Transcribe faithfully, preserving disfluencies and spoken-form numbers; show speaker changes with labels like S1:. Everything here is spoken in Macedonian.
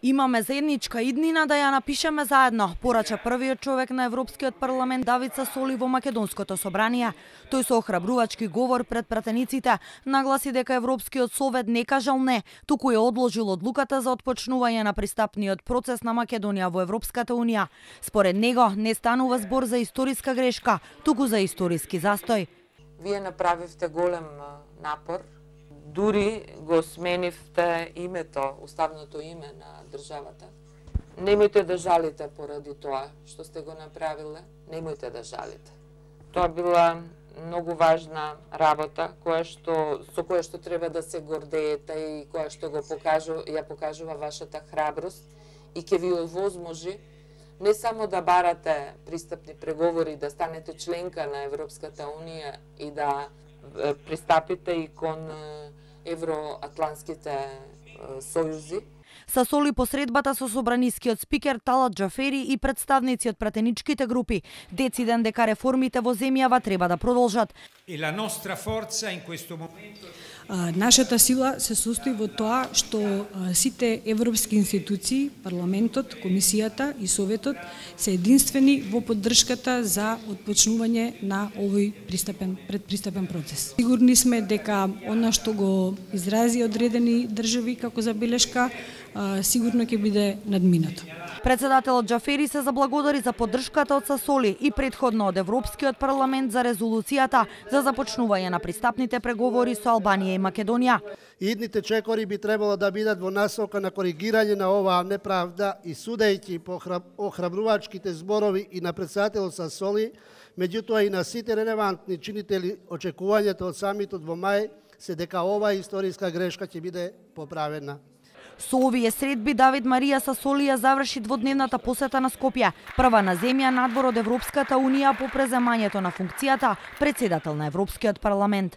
S1: Имаме заедничка иднина да ја напишеме заедно, порача првиот човек на Европскиот парламент Давид Сасоли во Македонското собрание. Тој со охрабрувачки говор пред пратениците нагласи дека Европскиот совет не кажал не, туку ја одложил одлуката за отпочнување на пристапниот процес на Македонија во Европската унија. Според него не станува збор за историска грешка, туку за историски застој.
S2: Вие направивте голем напор. Дури го сменивте името, уставното име на државата. Немојте да жалите поради тоа што сте го направиле, немојте да жалите. Тоа била многу важна работа која што со која што треба да се гордеете и која што го покажува, ја покажува вашата храброст и ќе ви овозможи не само да барате пристапни преговори, да станете членка на Европската унија и да пристапите и кон евроатлантските сојузи.
S1: Сасоли посредбата со собранискиот спикер Талат Џафери и представници од пратеничките групи дециден дека реформите во земјава треба да продолжат.
S3: E la nostra forza in questo momento
S4: Нашата сила се состои во тоа што сите европски институции, парламентот, комисијата и советот се единствени во поддршката за отпочнување на овој пристапен предпристапен процес. Сигурни сме дека она што го изрази одредени држави како забелешка сигурно ќе биде надминато.
S1: Председателот Џафери се заблагодари за поддршката од Сасоли и претходно од Европскиот парламент за резолуцијата за започнување на пристапните преговори со Албанија и Македонија.
S5: Идните чекори би требало да бидат во насока на коригирање на оваа неправда и судејќи по охрабрувачките зборови и на председателот Сасоли, меѓутоа и на сите релевантни чинители, очекувањето од самитот во мај се дека оваа историска грешка ќе биде поправена.
S1: Со овие средби Давид Марија Сасоли ја заврши дводневната посета на Скопје, прва на земја надвор од Европската унија по преземањето на функцијата председател на Европскиот парламент.